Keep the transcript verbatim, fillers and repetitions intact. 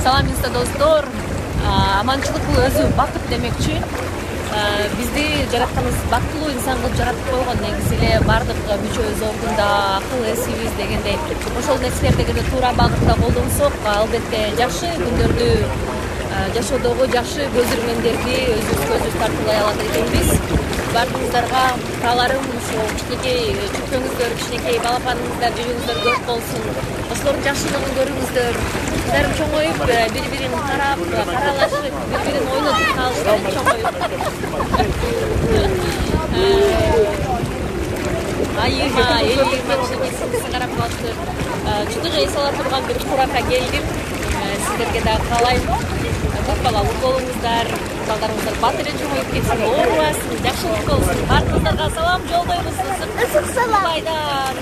Салам инста достор. Аманчылык бул өзү бакыт демекчи. Бизди жаратканыбыз бактылуу инсан кылып жаратып койгон. Негизи эле бардык мүчөбүз ордунда, акыл эсибиз дегендей. Ошол нерселерди эгерде туура багытта колдонсок, албетте жакшы күндөрдү, жашоодогу жакшы көз ирмендерди өзүбүзгө өзүбүз тартуулай алат экенбиз. Бардыгыңыздарга тааларым ушул кичинекей чөпчөңүздөр, кичинекей балапаныңыздар, жүзүңүздөр көп болсун. Ошолордун жакшылыгын көрүңүздөр. Кыздарым чоңоюп, бири-бирин карап, каралашып, бири-бирин ойнотуп калышты чоңоюп. Айыма, элима кичинекей карап калышты. Чындыгы эс ала турган бир куракка келдим. Сиздерге да каалайм. Көп балалуу болуңуздар, балдарыңыздар батыр эле чоңоюп кетсин, оорубасын, жакшылык болсун. Бардыгыңыздарга салам жолдойбуз. Ысык салам. Майдан.